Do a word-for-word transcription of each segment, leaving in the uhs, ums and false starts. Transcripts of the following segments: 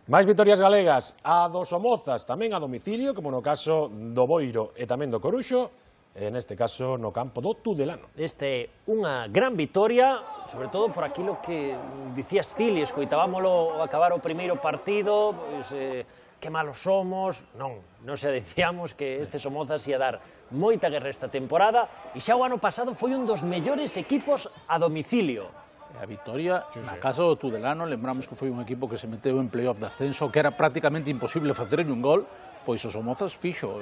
Máis vitorias galegas, a do Somozas, tamén a domicilio, como no caso do Boiro e tamén do Coruxo, e neste caso no campo do Tudelano. Este é unha gran vitoria, sobre todo por aquilo que dicías ti, e escoitábamolo acabar o primeiro partido, pois, eh, que malos somos, non, non se dicíamos que este Somozas ia dar moita guerra esta temporada, e xa o ano pasado foi un dos mellores equipos a domicilio. A vitoria, na casa do Tudelano, lembramos que foi un equipo que se meteu en playoff de ascenso, que era prácticamente imposible facerlle un gol, pois o Somozas fixo.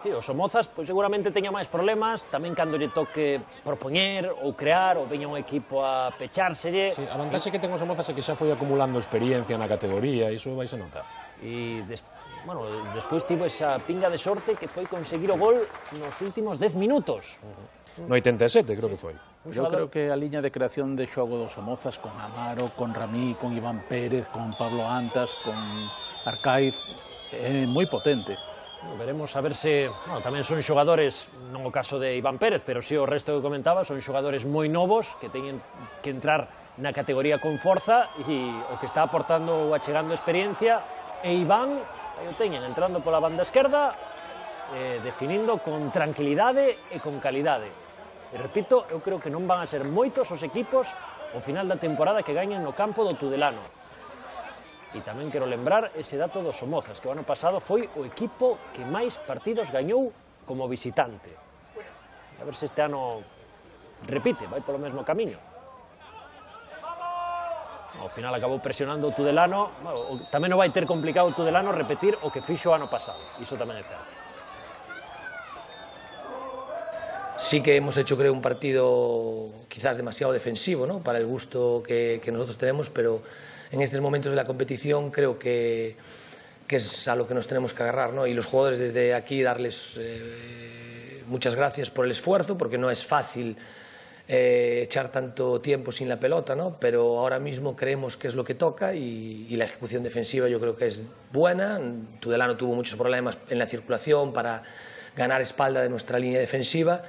Sí, o Somozas pois, seguramente teña máis problemas, tamén cando lle toque propoñer ou crear, ou veña un equipo a pechárselle. Sí, a vantaxe que ten o Somozas é que xa foi acumulando experiencia na categoría, iso vais a notar. E, des, bueno, despois tivo esa pinga de sorte que foi conseguir o gol nos últimos dez minutos. No oitenta e sete, creo que foi. Eu creo que a liña de creación de xogo do Somozas con Amaro, con Ramí, con Iván Pérez, con Pablo Antas, con Arcaiz, é moi potente. Veremos a ver se, bueno, tamén son xogadores, non o caso de Iván Pérez, pero si o resto que comentaba, son xogadores moi novos que teñen que entrar na categoría con forza e o que está aportando ou achegando experiencia e Iván, aí o teñen, entrando pola banda esquerda, eh, definindo con tranquilidade e con calidade. E repito, eu creo que non van a ser moitos os equipos ao final da temporada que gañen no campo do Tudelano. E tamén quero lembrar ese dato do Somozas, que o ano pasado foi o equipo que máis partidos gañou como visitante. A ver se este ano repite, vai polo mesmo camiño. Ao final acabou presionando o Tudelano, bueno, tamén non vai ter complicado o Tudelano repetir o que fixo o ano pasado, iso tamén é certo. Sí que hemos hecho, creo, un partido quizás demasiado defensivo, ¿no?, para el gusto que, que nosotros tenemos, pero en estos momentos de la competición creo que, que es a lo que nos tenemos que agarrar, ¿no? Y los jugadores desde aquí darles eh, muchas gracias por el esfuerzo, porque no es fácil eh, echar tanto tiempo sin la pelota, ¿no? Pero ahora mismo creemos que es lo que toca y, y la ejecución defensiva yo creo que es buena. Tudelano tuvo muchos problemas en la circulación para ganar espalda de nuestra línea defensiva.